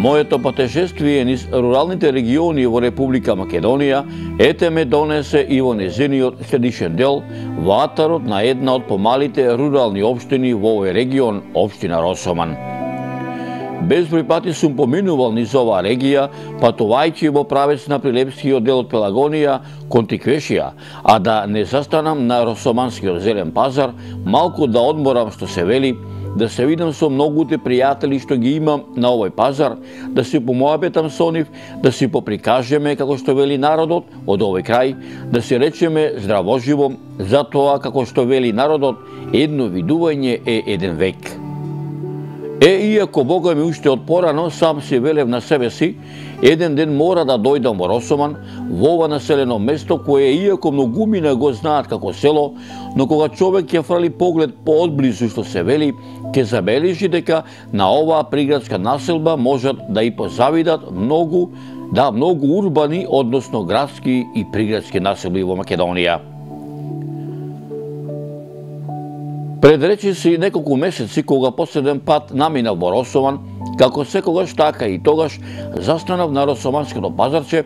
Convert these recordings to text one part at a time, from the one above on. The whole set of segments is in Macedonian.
Моето патешествие низ руралните региони во Република Македонија ете ме донесе и во незиниот средишен дел, во атарот на една од помалите рурални општини во овој регион, општина Росоман. Безброј пати сум поминувал низ оваа регија, патувајќи во правец на Прилепскиот дел од Пелагонија кон Тиквешија, а да не застанам на Росоманскиот зелен пазар, малку да одморам, што се вели, да се видам со многуте пријатели што ги имам на овој пазар, да си помоабетам со нив, да си поприкажеме, како што вели народот од овој крај, да си речеме здравоживо, затоа, како што вели народот, едно видување е еден век. Иако Бога ми уште од порано сам си велев на себе си, еден ден мора да дојдам во Росоман, во ова населено место кое иако многумина го знаат како село, но кога човек ќе фрли поглед поодблизу, што се вели, ќе забележи дека на оваа приградска населба можат да и позавидат многу урбани, односно градски и приградски населби во Македонија. Пред речиси неколку месеци, кога последен пат наминав во Росоман, како секогаш така и тогаш застанав на Росоманското пазарче,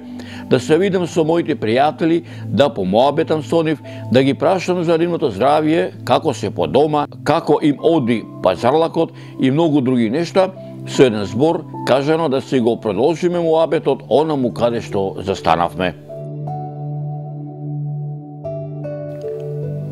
да се видам со моите пријатели, да помоабетам со нив, да ги прашам за нивното здравје, како се по дома, како им оди пазарлакот и многу други нешта, со еден збор кажано да си го продолжиме муабетот онаму каде што застанавме.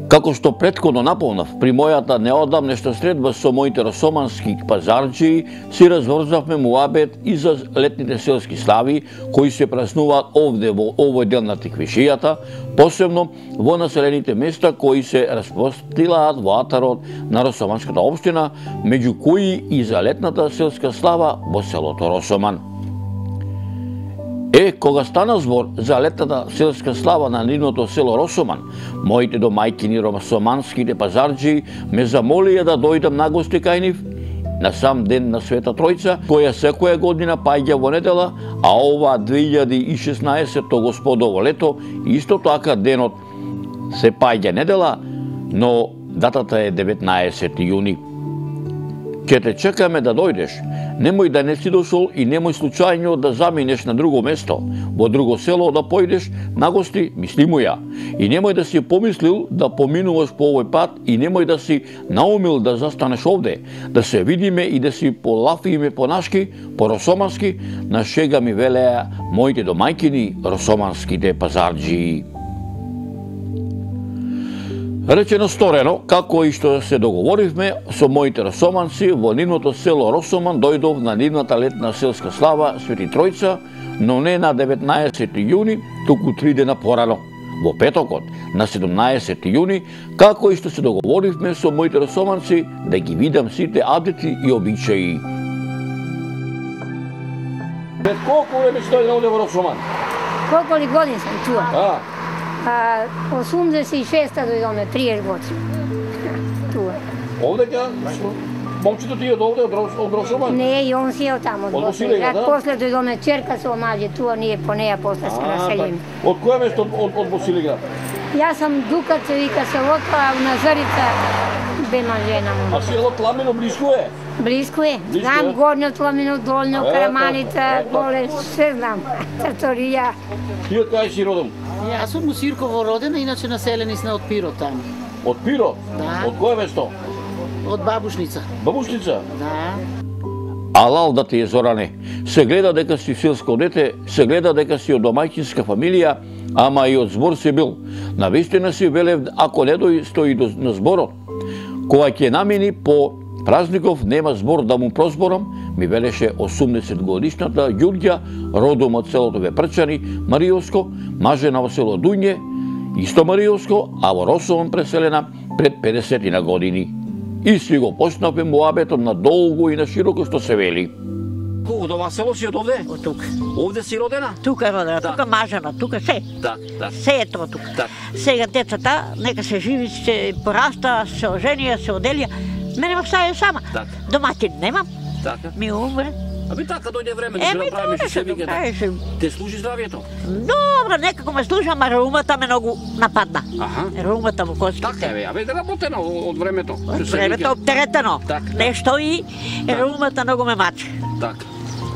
Како што претходно наполнав, при мојата неодамнешна средба со моите росомански пазарџии, си разврзавме муабет и за летните селски слави, кои се празнуваат овде во овој дел на Тиквишијата, посебно во населените места кои се распростилаат во атарот на Росоманската општина, меѓу кои и за летната селска слава во селото Росоман. Кога стана збор за летната селска слава на нивното село Росоман, моите домајкини росоманските пазарџии ме замолија да дојдам на гости кај нив на сам ден на Света Тројца, која секоја година паѓа во недела, а ова 2016 господово лето исто така денот се паѓа недела, но датата е 19 јуни. Ќе те чекаме да дојдеш. Немој да не си дошол и немој случајно да заминеш на друго место, во друго село да појдеш на гости, мисли му ја. И немој да си помислил да поминуваш по овој пат и немој да си наумил да застанеш овде, да се видиме и да си полафиме понашки, по росомански, на шега ми велеа моите домајкини росоманските пазарџии. Речено сторено, како и што се договоривме со моите росоманци, во нивното село Росоман дојдов на нивната летна селска слава Свети Тројца, но не на 19 јуни, туку 3 дена порано, во петокот, на 17 јуни, како и што се договоривме со моите росоманци да ги видам сите адети и обичаи. Пред колку време сте дојден овде во Росоман? Колку ли години сам туа? 86-та дојдоме, 30 години. Туа. Овде ќе момчето ти е овде од Росоман? Не, и он си е таму од Босилеград. После дојдоме черка со омаѓе, туа ние по неја после се населиме. Од која место од Босилеград? Јас сам Дукат, се вика селото, а у Назарица бема жена му. А село Тламино близко е? Близко е. Знам горно Тламино, долно, Караманица, голе, се знам. Таторија. Ти од кај си родом? Јас сум у Сирково родена, иначе населени сме од Пирот таму. Од Пирот? Да. Од која место? Од Бабушница. Бабушница? Да. Алал да ти е, Зоране. Се гледа дека си селско дете, се гледа дека си од домајчинска фамилија, ама и од збор си бил. Навистина си велев, ако не стои на зборот. Кога ќе намини по празников, нема збор да му прозборам, ми велеше 80 годишната Ѓурѓа, родом од селото Вепрчани, Мариовско, мажена во село Дуње, исто Мариовско, а во Росоман преселена пред 50 на години. И си го почнавме муабетот на долго и на широко, што се вели. Од ова село си од овде? Од тука. Овде си родена? Тука родена, тука мажена, тука се. Се е тоа тука. Сега децата, нека се живи, се пораста, се оженија, се оделија. Мене ме остави сама. Доматин немам. Ми умре. Аби така дојде време да се направиме што се вика. Те служи здравието? Добро, некако ме служа, ама раумата ме многу нападна. Раумата во костите. Така е, абе работено од времето. Од времето оптеретено. Нешто и раумата многу ме маче. Така.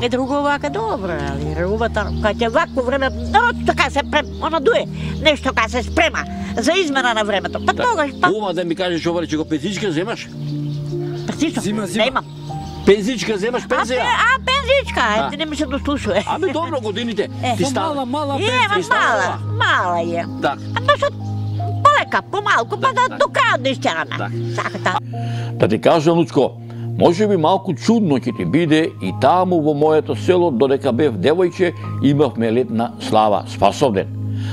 Е друго вака добро, али рубата, кога ќе вакво време, народ така се она дуе, нешто кога се спрема за измена на времето. Па тогаш па. Ума да ми кажеш оваре че го пензичка земаш? Пензичка? Зима. Немам. Пензичка земаш пензија? Пензичка, ете не ми се дослушува. Абе добро годините. Ти става. Мала Е, мала е. Так. Ама што полека, помалку, па да до крајот да истераме. Саката. Да ти кажам, Лучко, може би малку чудно ќе ти биде и таму во моето село, додека бев девојче, имавме летна слава Спасовден.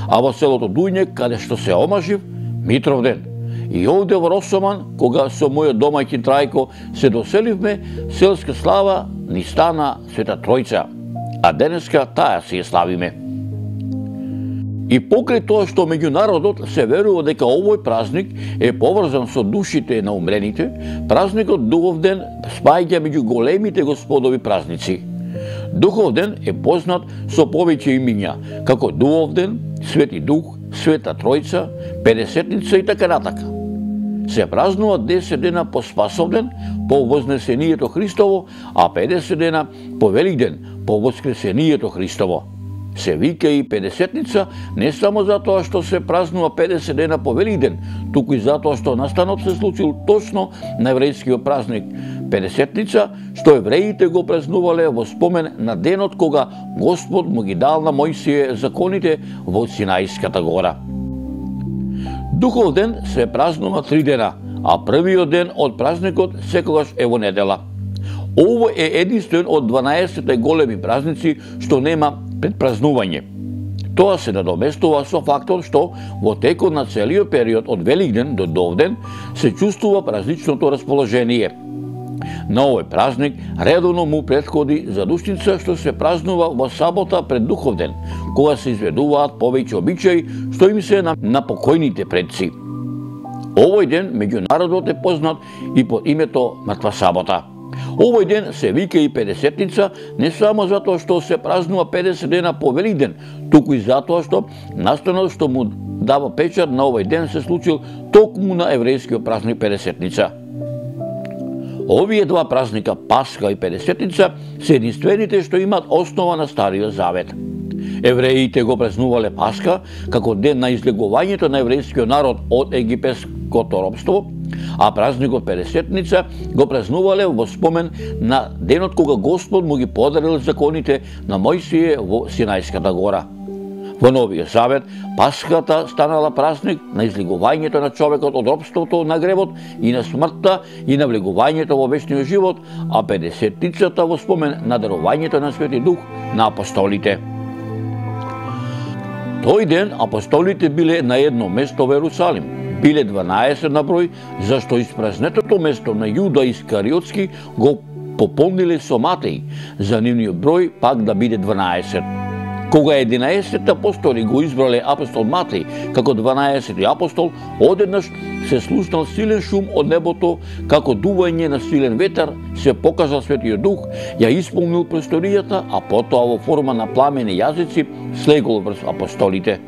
А во селото Дујнек, каде што се омажив, Митровден. И овде во Росоман, кога со мојот домаќин Трајко се доселивме, селска слава ни стана Света Тројца, а денеска таа си ја славиме. И покрај тоа што меѓу народот се верува дека овој празник е поврзан со душите на умрените, празникот Духовден спаѓа меѓу големите господови празници. Духовден е познат со повеќе имиња, како Духовден, Свети Дух, Света Тројца, Педесетница и така натака. Се празнува 10 дена по Спасовден, по Вознесението Христово, а 50 дена по Великден, по Воскресението Христово. Се вика и Педесетница не само затоа што се празнува 50 дена по Великден, туку и затоа што настанот се случил точно на еврејскиот празник Педесетница, што евреите го празнувале во спомен на денот кога Господ му ги дал на Мојсие законите во Синајската гора. Духовден се празнува 3 дена, а првиот ден од празникот секогаш е во недела. Ово е единствен од 12 големи празници што нема предпразнување. Тоа се надоместува со фактор што во текот на целиот период од Великден до Довден се чувствува празничното расположение. На овој празник редовно му претходи задушница што се празнува во сабота пред Духовден, кога се изведуваат повеќе обичаи што им се на покојните предци. Овој ден меѓу народот е познат и под името Мртва сабота. Овој ден се вика и Педесетница не само затоа што се празнува 50 дена по Великден, туку и затоа што настанот што му дава печат на овој ден се случил токму на еврејскиот празник Педесетница. Овие два празника, Пасха и Педесетница, се единствените што имаат основа на Стариот Завет. Евреите го празнувале Пасха како ден на излегувањето на еврејскиот народ од египетското робство, а празникот Педесетница го празнувале во спомен на денот кога Господ му ги подарил законите на Мојсие во Синајската гора. Во Новиот Завет, Пасхата станала празник на излегувањето на човекот од робството на гревот и на смртта и на влегувањето во вечниот живот, а Педесетницата во спомен на дарувањето на Свети Дух на апостолите. Тој ден апостолите биле на едно место во Ерусалим. Биле 12 на број, зашто испразнетото место на Јуда Искариотски го пополниле со Матеј, за нивниот број пак да биде 12. Кога 11 апостоли го избрале апостол Матеј како 12 апостол, одеднаш се слушнал силен шум од небото, како дување на силен ветар, се покажал Светиот Дух, ја исполнил просторијата, а потоа во форма на пламени јазици слегол врз апостолите.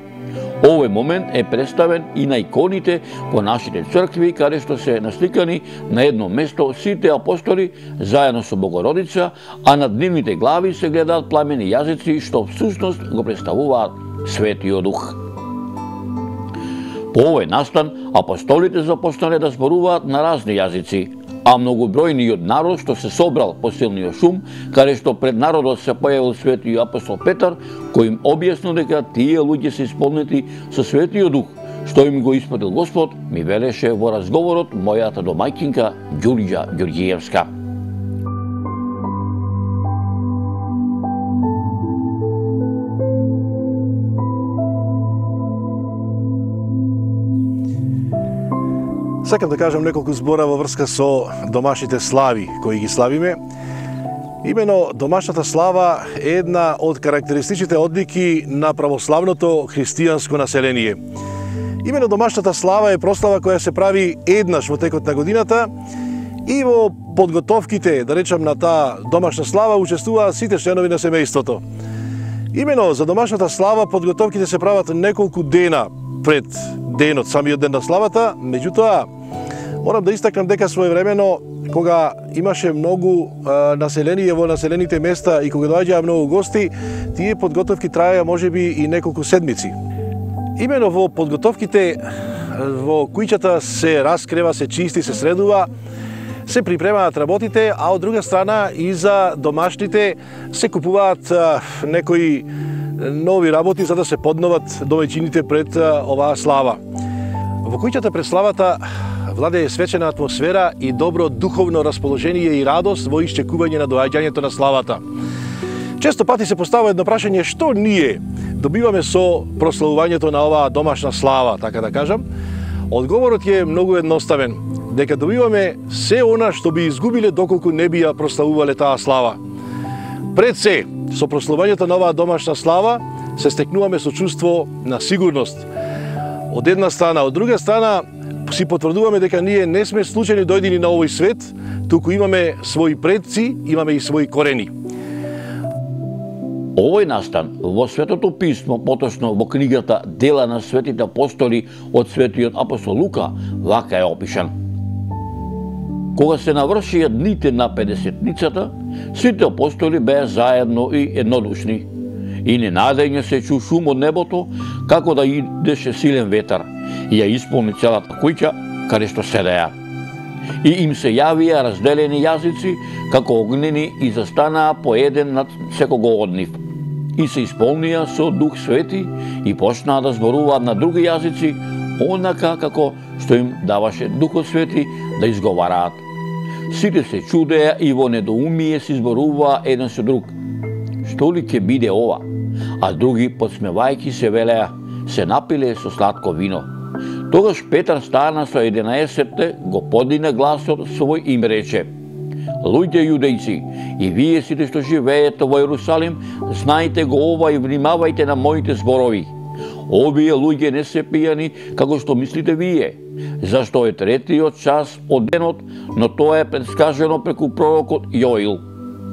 Овој момент е представен и на иконите во нашите цркви, каде што се насликани на едно место сите апостоли заедно со Богородица, а над нивните глави се гледаат пламени јазици што всушност го представуваат Светиот Дух. По овој настан апостолите започнале да зборуваат на разни јазици, а многобројниот народ што се собрал по силниот шум, каде што пред народот се појавил Светиот апостол Петар, кој им објаснил дека тие луѓе се исполнети со Светиот Дух, што им го испратил Господ, ми велеше во разговорот мојата домаќинка Ѓурѓа Ѓурѓиевска. Сакам да кажам неколку збора во врска со домашните слави кои ги славиме. Имено домашната слава е една од карактеристичните одлики на православното христијанско население. Имено домашната слава е прослава која се прави еднаш во текот на годината и во подготовките, да речам, на таа домашна слава учествуваат сите членови на семејството. Имено за домашната слава подготовките се прават неколку дена пред денот, самиот ден на славата, меѓутоа, Морам да истакнам дека своевремено, кога имаше многу население во населените места и кога доаѓаа многу гости, тие подготовки траеа можеби и неколку седмици. Имено во подготовките во куќата се раскрева, се чисти, се средува, се припремаат работите, а од друга страна и за домашните се купуваат некои нови работи за да се подноват домаќините пред оваа слава. Во куќата пред славата владее свечена атмосфера и добро духовно расположение и радост во исчекување на доаѓањето на славата. Често пати се постава едно прашање што ние добиваме со прославувањето на оваа домашна слава, така да кажам. Одговорот е многу едноставен, дека добиваме се она што би изгубиле доколку не би ја прославувале таа слава. Пред се, со прославувањето на оваа домашна слава, се стекнуваме со чувство на сигурност. Од една страна, од друга страна, си потврдуваме дека ние не сме случајно дојдени на овој свет, туку имаме своји предци, имаме и своји корени. Овој настан во Светото писмо, поточно во книгата Дела на светите апостоли од светиот апостол Лука, вака е опишан. Кога се навршија дните на 50-ницата, сите апостоли беа заедно и еднодушни. И ненадење се чу шум од небото, како да идеше силен ветар, и ја исполни целата куќа, каде што седеа. И им се јавија разделени јазици, како огнени, и застанаа по еден над секого од нив. И се исполнија со Дух Свети и почнаа да зборуваат на други јазици, онака како што им даваше Духот Свети да изговараат. Сите се чудеа и во недоумие се зборуваа еден со друг. Што ли ќе биде ова? А други, подсмевајќи се, велеа, се напиле со сладко вино. Тогаш Петар стана со 11-те, го подигна гласот свој и им рече: Луѓе јудејци, и вие сите што живеете во Јерусалим, знајте го ова и внимавајте на моите зборови. Овие луѓе не се пијани, како што мислите вие, зашто е третиот час од денот, но тоа е предскажено преку пророкот Јоил.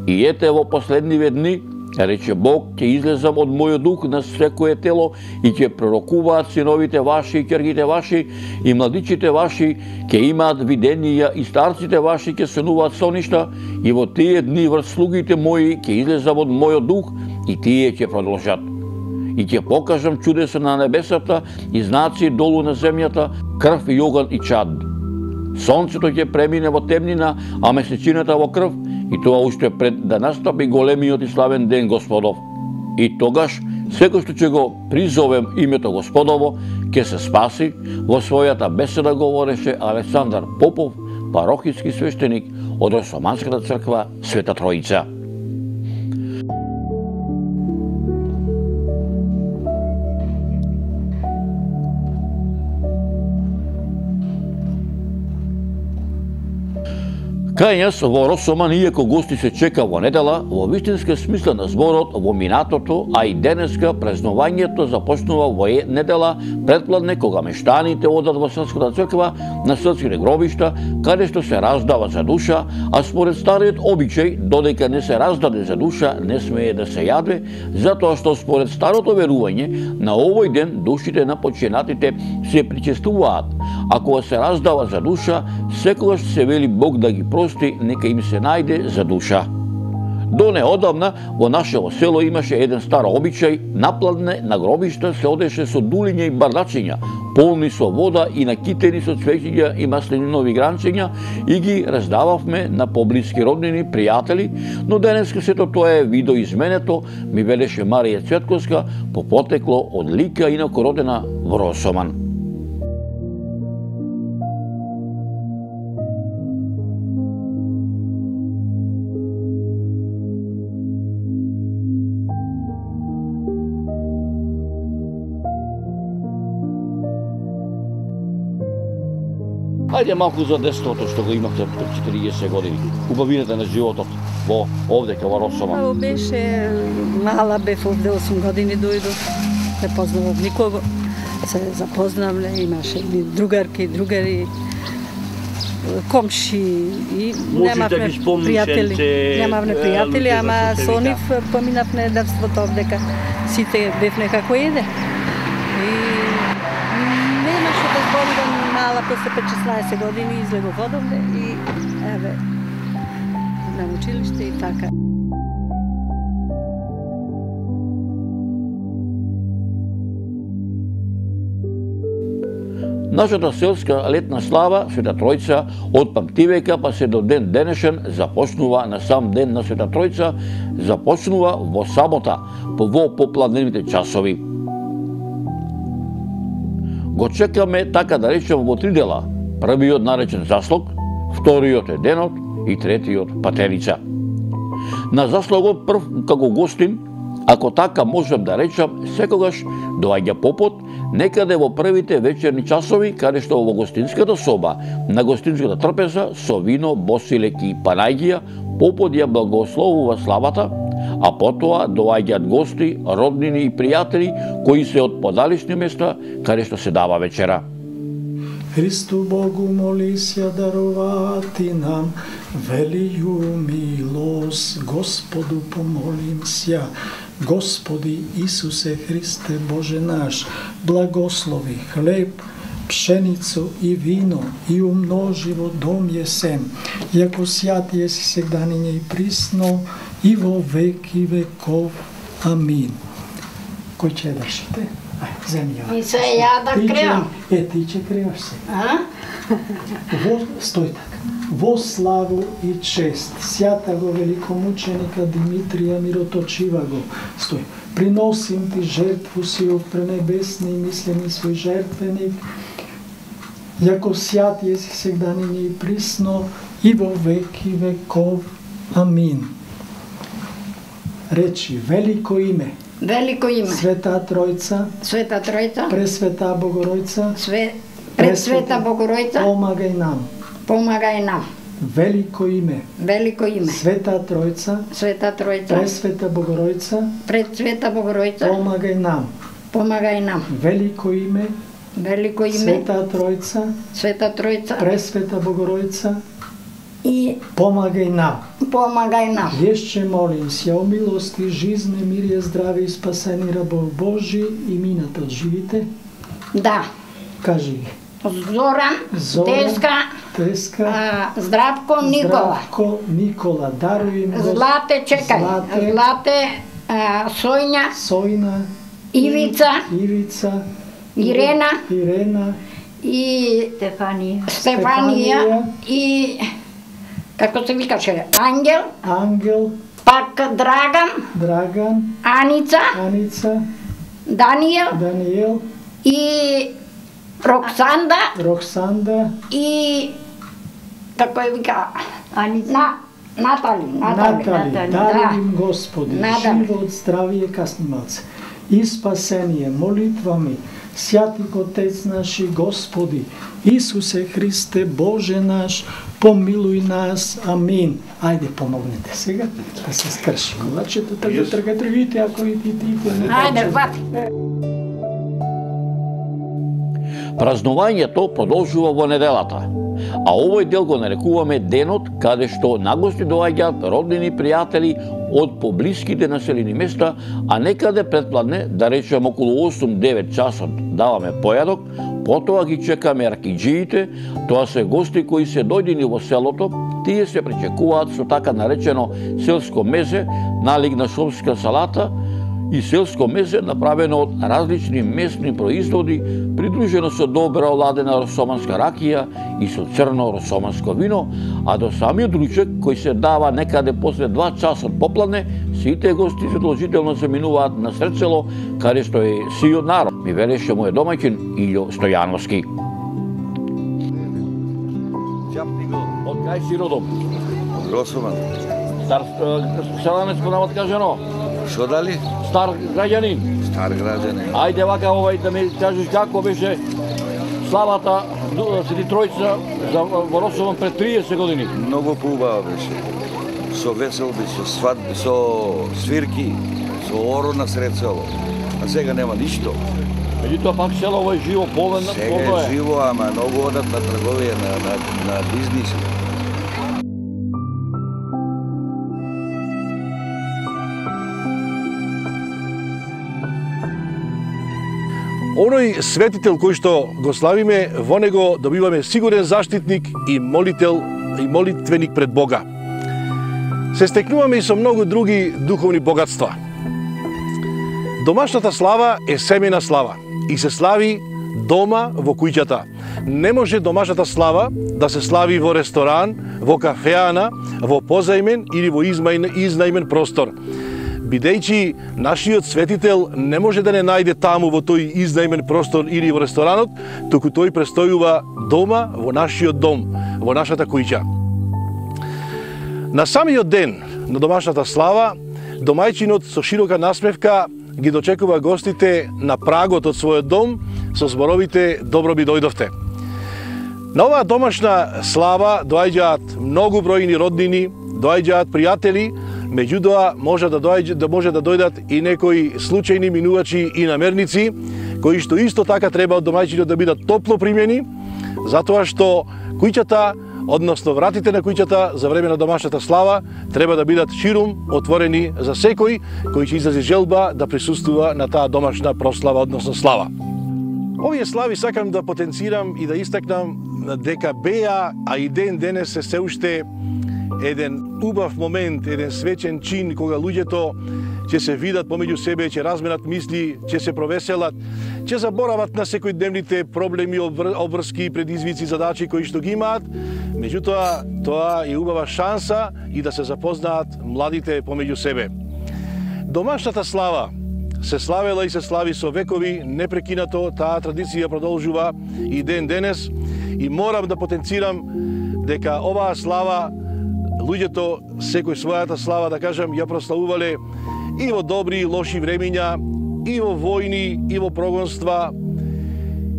И ете во последниве дни, рече Бог, ќе излезам од мојот дух на секое тело и ќе пророкуваат синовите ваши и ќерките ваши и младичите ваши ќе имаат виденија и старците ваши ќе сонуваат соништа и во тие дни врз слугите мои ќе излезам од мојот дух и тие ќе продолжат. И ќе покажам чудеса на небесата и знаци долу на земјата, крв и оган и чад. Сонцето ќе премине во темнина, а месечината во крв, и тоа уште пред да настапи големиот и славен ден Господов. И тогаш, секој што ќе го призовем името Господово, ќе се спаси. Во својата беседа говореше Александар Попов, парохиски свештеник од Росоманската црква Света Троица. Кај нас во Росоман, иако гости се чека во недела, во вистинска смисла на зборот, во минатото, а и денеска празнувањето започнува во недела предпладне, кога мештаните одат во Српската црква на српските гробишта, каде што се раздава за душа, а според стариот обичај, додека не се раздаде за душа, не смее да се јаде, затоа што според старото верување, на овој ден душите на починатите се причестуваат, а кога се раздава за душа, секогаш се вели Бог да ги прости, нека им се најде за душа. До неодамна во нашето село имаше еден стар обичај, напладне на гробишта се одеше со дулиња и бардачиња, полни со вода и накитени со цвеќиња и масленинови гранчиња, и ги раздававме на поблиски роднини, пријатели, но денеска сето тоа е видоизменето, ми велеше Марија Цветковска, по потекло од Лика, инако родена во Росоман. Ајде малку за детството што го имавте пред 40 години, убавината на животот во овдека во Росоман. Тоа беше, мала бев овде 8 години дојдов, не познавам никого, се запознавме, имаше другарки, другари, комши и немавме пријатели. Немавме пријатели, ама со нив поминавме детството овдека, сите бевме како еден. И немаше да зборувам, мала после 5-16 години излегов одовде и еве на училиште и така. Нашата селска летна слава, Света Тројца, од памтивека па се до ден денешен започнува на сам ден на Света Тројца, започнува во сабота, во попладневните часови. Го чекаме, така да речем, во 3 дела. Првиот наречен заслог, вториот е денот и третиот патерица. На заслогот прв како гостин, ако така можем да речам, секогаш доаѓа попот некаде во првите вечерни часови, каде што во гостинската соба, на гостинската трпеза, со вино, босилеки и панајгија, попот ја благословува славата, а потоа доаѓаат гости, роднини и пријатели, кои се од подалечни места, каде што се дава вечера. Христу Богу моли се даровати нам велију милост, Господу помолим се. Господи Исусе Христе Боже наш, благослови хлеб, пшеницу и вино и умножи во дом јесен, јако сјат еси сегданиње и присно и во веки веков. Амин. Кој ќе држите? Земја. И се ја да креам. Ти ќе креаш се. Стој така. Во славу и чест, сјатаго великомученика Димитрија Мироточиваго, стој, приносим ти жертву си од пренебесни и мислени свој жертвеник, јако сјат еси сегданиње и присно и во веки веков. Амин. Речи, велико име, Велико име. Света Тројца, Света Тројца. Пресвета Богоројца, Пресвета Богоројца. помагај нам. Помагај нам. Велико име, Велико име. Света Тројца, Света Тројца. Пресвета Богоројца, Пресвета Богоројца. помагај нам. Помагај нам. Велико име, Велико име. Света Тројца, Света Тројца. Пресвета Богоројца, И помагај нам. помагај нам. Јешće молим се о милости, жизне, мирие, здраве и спасени рабов Божи и мината од живите. Да. Кажи ги. Зоран, Теска, Здравко, Никола. Здравко, Никола, даруј им Злате, чекај. Злате, Сојња, Сојна, Ивица, Ирена и Стефанија и како се викаше, Ангел, пак Драган, Аница, Даниел и Роксанда и како ја вика Натали. Даруј им Господи, живот, здравие, каснималце и спасение, молитвами, Свјати Отец наши Господи, Исусе Христе Боже наш, помилуј нас. Амин. Ајде, помогнете сега да се скрши колачето, тргате, ако и ти. Ајде, вати. Празнувањето продолжува во неделата, а овој дел го нарекуваме денот каде што нагости доаѓаат роднини пријатели од поблиските населени места, а некаде предпладне, да речем околу 8-9 часот даваме појадок, потоа ги чекаме ракиџиите, тоа се гости кои се дојдени во селото, тие се пречекуваат со така наречено селско мезе, налиг на шопска салата, и селско мезе направено од различни месни производи, придружено со добра оладена росоманска ракија и со црно росоманско вино, а до самиот ручек кој се дава некаде после 2 часот попладне, сите гости задолжително се минуваат на средсело, каде што е сиот народ, ми велеше мојот домаќин Илјо Стојановски. Од кај си родом? Росоман. Стар селанец понамат кажано? Шо дали? Стар граѓанин. Стар граѓанин. Ајде вака да ми кажеш како беше славата Свети Тројца во Росоман пред 30 години. Многу поубава беше. Со веселби, со свадби, со свирки, со оро на сред село. А сега нема ништо. Меѓутоа пак селово е живо, полно е. Сега е живо, ама многу одат на трговија, на бизнис. Оној светител кој што го славиме, во него добиваме сигурен заштитник и молител и молитвеник пред Бога. Се стекнуваме и со многу други духовни богатства. Домашната слава е семена слава и се слави дома во куќата. Не може домашната слава да се слави во ресторан, во кафеана, во позајмен или во изнајмен простор. Бидејќи нашиот светител не може да не најде таму во тој изнајмен простор или во ресторанот, туку тој престојува дома во нашиот дом, во нашата куќа. На самиот ден на домашната слава, домајчинот со широка насмевка ги дочекува гостите на прагот од својот дом со зборовите «Добро би дојдовте». На оваа домашна слава доаѓаат многу бројни роднини, доаѓаат пријатели, меѓутоа може да дојдат и некои случајни минувачи и намерници, кои што исто така треба од домајчинот да бидат топло примени, затоа што куќата, односно вратите на куќата за време на домашната слава треба да бидат ширум отворени за секој кој ќе изрази желба да присуствува на таа домашна прослава, односно слава. Овие слави сакам да потенцирам и да истакнам дека беа, а и ден денес се уште еден убав момент, еден свечен чин кога луѓето ќе се видат помеѓу себе, ќе разменат мисли, ќе се провеселат, ќе заборават на секојдневните проблеми, обврски, предизвици, задачи кои што ги имаат. Меѓутоа, тоа е убава шанса и да се запознаат младите помеѓу себе. Домашната слава се славела и се слави со векови непрекинато, таа традиција продолжува и ден денес и морам да потенцирам дека оваа слава луѓето секој својата слава, да кажам, ја прославувале и во добри и лоши времиња, и во војни, и во прогонства,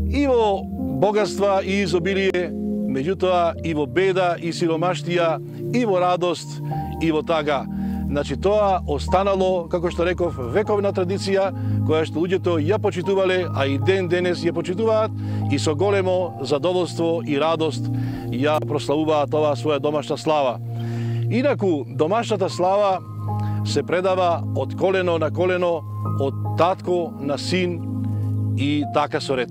и во богатства и изобилие, меѓутоа и во беда и сиромаштија, и во радост, и во тага. Значи тоа останало, како што реков, вековна традиција, која што луѓето ја почитувале, а и ден денес ја почитуваат и со големо задоволство и радост ја прославуваат оваа своја домашна слава. Инаку, домашната слава се предава од колено на колено, од татко на син и така со ред.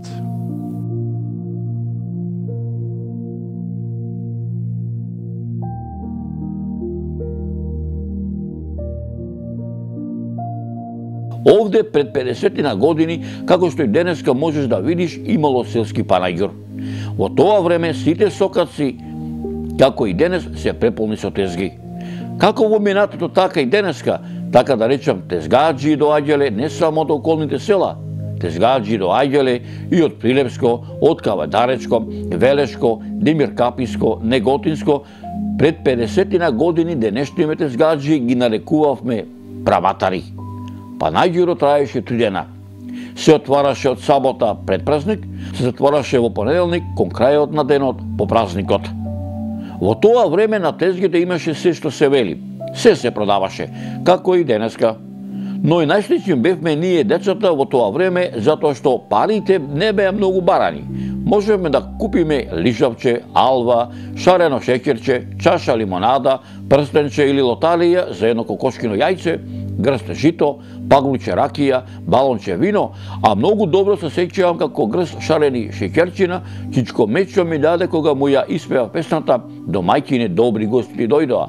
Овде пред 50 години, како што и денеска можеш да видиш, имало селски панаѓур. Во тоа време сите сокаци, како и денес, се преполни со тезги. Како во минатото, така и денеска, така да речам, тезгаджи доаѓале не само од околните села, тезгаджи доаѓале и од Прилепско, од Кавадаречко, Велешко, Демиркаписко, Неготинско. Пред 50 години денешните тезгаджи ги нарекувавме праватари. Панаѓурот траеше 3 дена. Се отвараше од сабота пред празник, се затвораше во понеделник кон крајот на денот по празникот. Во тоа време на тезгите имаше се што се вели. Се продаваше, како и денеска. Но и најслични бевме ние децата во тоа време, затоа што парите не беа многу барани. Можеме да купиме лижавче, алва, шарено шеќерче, чаша лимонада, прстенче или лоталија за едно кокошкино јајце, грст жито, паглуче ракија, балонче вино, а многу добро се сеќавам како грст шарени шеќерчина, Чичко Мечо ми даде кога му ја испева песната «Домајкине добри гости дојдоа».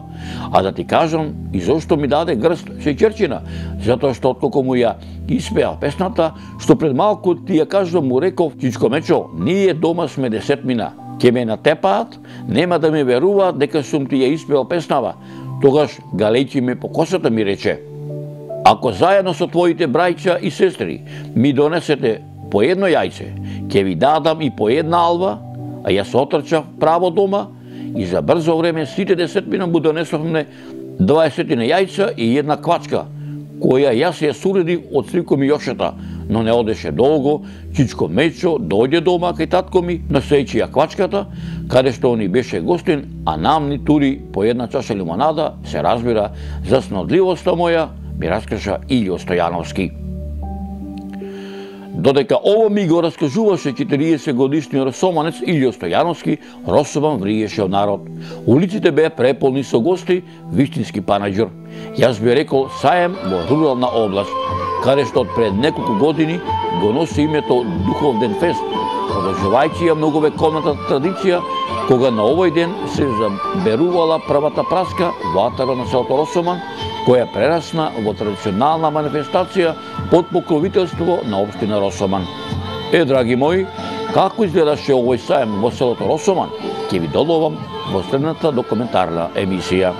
А да ти кажам и зошто ми даде грст шеќерчина, затоа што откако му ја испева песната, што пред малку ти ја кажам му реков Чичко Мечо, ние дома сме 10 мина, ќе ме натепаат, нема да ми веруваат дека сум ти ја испеал песнава. Тогаш галејќи ме по косата ми рече: ако заедно со твоите браќа и сестри ми донесете по едно јајце, ќе ви дадам и по една алва, а јас отрчав право дома и за брзо време сите 10 мина му донесовме 20 јајца и една квачка, која јас ја суредив од стрiko ми Јошата, но не одеше долго, Чичко Мечо дојде дома кај татко ми, носејќи ја квачката, каде што ни беше гостин, а нам ни тури по една чаша лимонада, се разбира, за снодливоста моја, ми раскажа Илјо Стојановски. Додека ово ми го раскажуваше 40 годишниот росоманец Илјо Стојановски, Росоман вриеше од народ. Улиците беа преполни со гости, вистински панаѓур. Јас би рекол саем во рурална област. каде што од пред неколку години го носи името Духовден фест, продолжувајќи ја многовековната традиција, кога на овој ден се заберувала првата праска во атарот на селото Росоман, која прерасна во традиционална манифестација под покровителство на општина Росоман. Драги мои, како изгледаше овој саем во селото Росоман, ќе ви доделувам во следната документарна емисија.